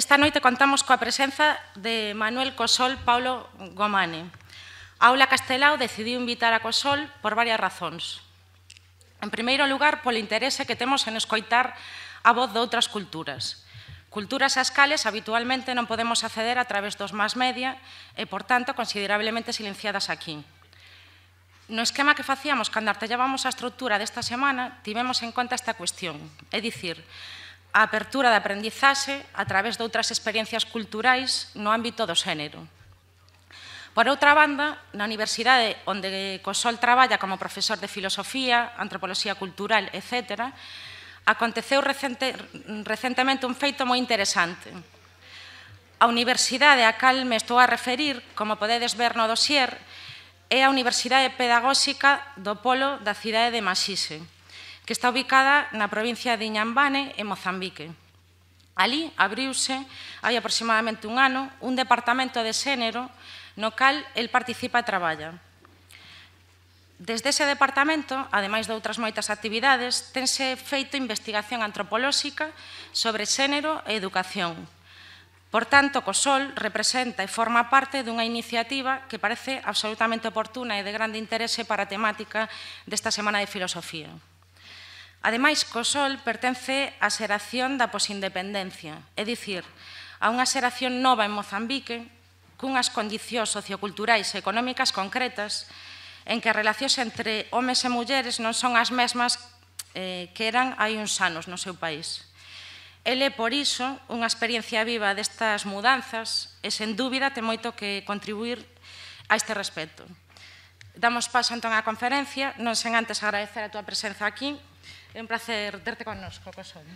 Esta noite contamos coa presenza de Manuel Cosol Paulo Gomane. A Aula Castelao decidiu invitar a Cosol por varias razóns. En primeiro lugar, polo interese que temos en escoitar a voz de outras culturas. Culturas ás cales habitualmente non podemos acceder a través dos mass media e, por tanto, considerablemente silenciadas aquí. No esquema que facíamos cando artellábamos a estrutura desta semana, tivemos en conta esta cuestión, é dicir, a apertura de aprendizaxe a través de outras experiencias culturais no ámbito do xénero. Por outra banda, na universidade onde Cosol traballa como profesor de filosofía, antropoloxía cultural, etc., aconteceu recentemente un feito moi interesante. A universidade a cal me estou a referir, como podedes ver no dossier, é a Universidade Pedagóxica do Polo da cidade de Maxixe, que está ubicada na provincia de Inhambane, en Mozambique. Alí abriuse, hai aproximadamente un ano, un departamento de xénero no cal el participa e traballa. Desde ese departamento, ademais de outras moitas actividades, tense feito investigación antropolóxica sobre xénero e educación. Por tanto, Cosol representa e forma parte dunha iniciativa que parece absolutamente oportuna e de grande interese para a temática desta Semana de Filosofía. Ademais, Cosol pertence á xeración da posindependencia, é dicir, a unha xeración nova en Mozambique, cunhas condicións socioculturais e económicas concretas, en que as relacións entre homes e mulleres non son as mesmas que eran hai uns anos no seu país. El é, por iso, unha experiencia viva destas mudanzas e, sen dúbida, ten moito que contribuir a este respecto. Damos paso, entón, á conferencia, non sen antes agradecer a túa presenza aquí. É un placer terte connosco, Cosol.